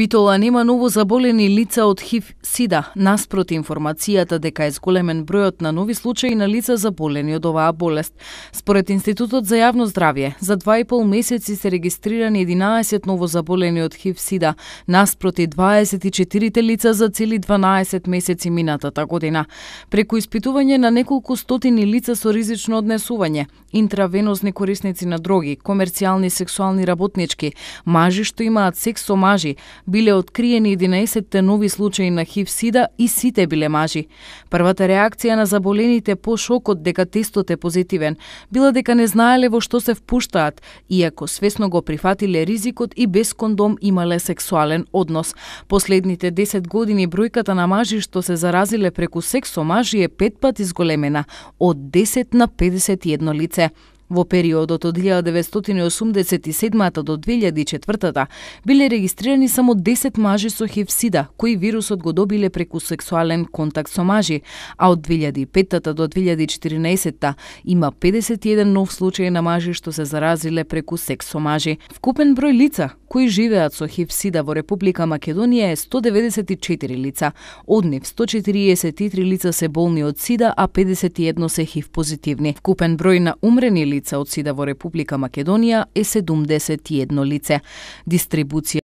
Битола нема ново заболени лица од ХИВ-СИДА, наспроти информацијата дека е зголемен бројот на нови случаи на лица заболени од оваа болест. Според Институтот за јавно здравје, за 2,5 месеци се регистрирани 11 ново заболени од ХИВ-СИДА, наспроти 24 лица за цели 12 месеци минатата година. Преку испитување на неколку стотини лица со ризично однесување, интравенозни корисници на дроги, комерцијални сексуални работнички, мажи што имаат секс со мажи, биле откриени 11 нови случаи на ХИВ-СИДА и сите биле мажи. Првата реакција на заболените по шокот дека тестот е позитивен била дека не знаеле во што се впуштаат, иако свесно го прифатиле ризикот и без кондом имале сексуален однос. Последните 10 години бројката на мажи што се заразиле преку секс со мажи е 5 пати зголемена, од 10 на 51 лице. Во периодот од 1987 до 2004 биле регистрирани само 10 мажи со ХИВ-СИДА, кои вирусот го добиле преку сексуален контакт со мажи, а од 2005 до 2014 има 51 нов случај на мажи што се заразиле преку секс со мажи. Вкупен број лица кои живеат со ХИВ-СИДА во Република Македонија е 194 лица. Од нив 143 лица се болни од СИДА, а 51 се ХИВ позитивни. Вкупен број на умрени лица од СИДА во Република Македонија е 71 лице. Дистрибуција